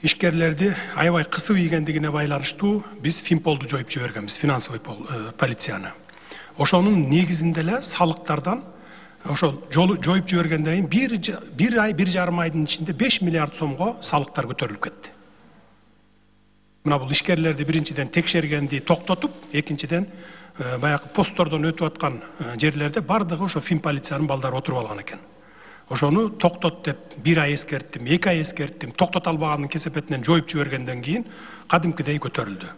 ишкерлерди аябай кысып ийгендигине байланыштуу биз Финполду жоюп жибергенбиз, финансовый полицияны. Ошонун негизинде эле салыктардан ошол жоюп жибергенден кийин бир ай, 1,5 айдын ичинде 5 миллиард сомго салыктар көтөрүлүп кетти. Мына бул ишкерлерди биринчиден текшергенди токтотуп, экинчиден баягы посттордон өтүп аткан жерлерде бардыгы ошо Финполициянын балдары отуруп алган экен. Ошону токтот деп 1 ай эскерттим, 2 ай эскерттим, токтото албагандын кесепетинен жоюп жибергенден кийин кадимкидей көтөрүлдү.